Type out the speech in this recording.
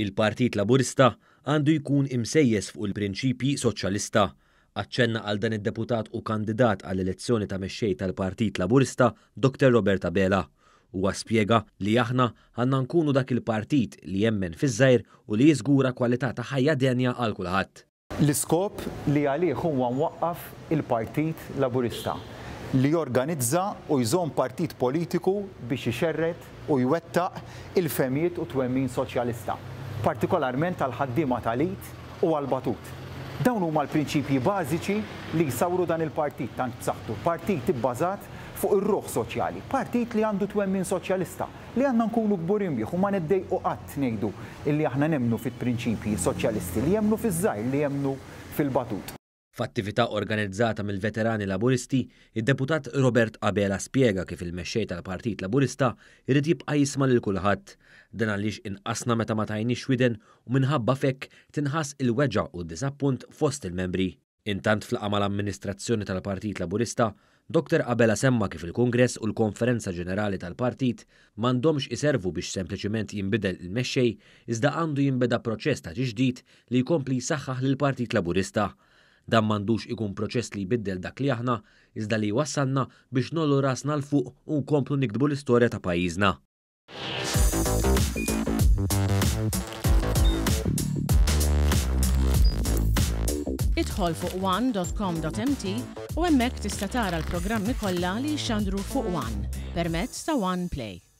Il-Partit Laburista għandu jkun imsejjes fuq il-prinċipji soċjalista. Aċċenna għal dan id-deputat u kandidat għall-elezzjoni ta' mexxej tal-Partit Laburista, Dr Robert Abela. Huwa spjega li aħna għandna nkunu dak il-partit li jemmen fiż-żgħir u li jiżgura kwalità ta' ħajja denja għal kulħadd. L-iskop li għalih huwa mwaqqaf il-Partit Laburista, li jorganizza u jżomm partit politiku biex ixerred u jwettaq il-fehmiet u t-twemmin soċjalista, partikolarment għall-ħaddiema tal-id u għall-batut. Dawn huma l-prinċipji bażiċi li jsawru dan il-partit tant b'saħħtu, partit ibbażat fuq ir-ruħ soċjali, partit li għandu twemmin soċjalista, Li għandna nkunu kburin bih u ma niddejqu qatt ngħidu illi aħna nemmnu fit-prinċipji soċjalisti, li jemmnu fiż-żgħir, li jemmnu fil-batut. F'attività organizzata mill-Veterani Laburisti, id-Deputat Robert Abela spjega kif il-Mexxej tal-Partit Laburista jrid jibqa' jisma' lil kulħadd. Dan għaliex inqasna meta ma tajniex widen u minħabba f'hekk tinħass il-weġgħa u d-diżappunt fost il-membri. Intant f'laqgħa mal-amministrazzjoni tal-Partit Laburista, Dr Abela semma kif il-Kungress u l-Konferenza Ġenerali tal-Partit m'għandhomx iservu biex sempliċiment jinbidel il-mexxej iżda għandu jinbeda proċess ta' tiġdid li jkompli jsaħħaħ lill-Partit Laburista. Dan m'għandux ikun proċess li jbiddel dak li aħna iżda li jwassalna biex ngħollu rasna 'l fuq u nkomplu niktbu l-istorja ta' pajjiżna. Idħol fuq one.com.mt u hemmhekk tista' tara l-programmi kollha li jixxandru fuq One permezz ta' One Play.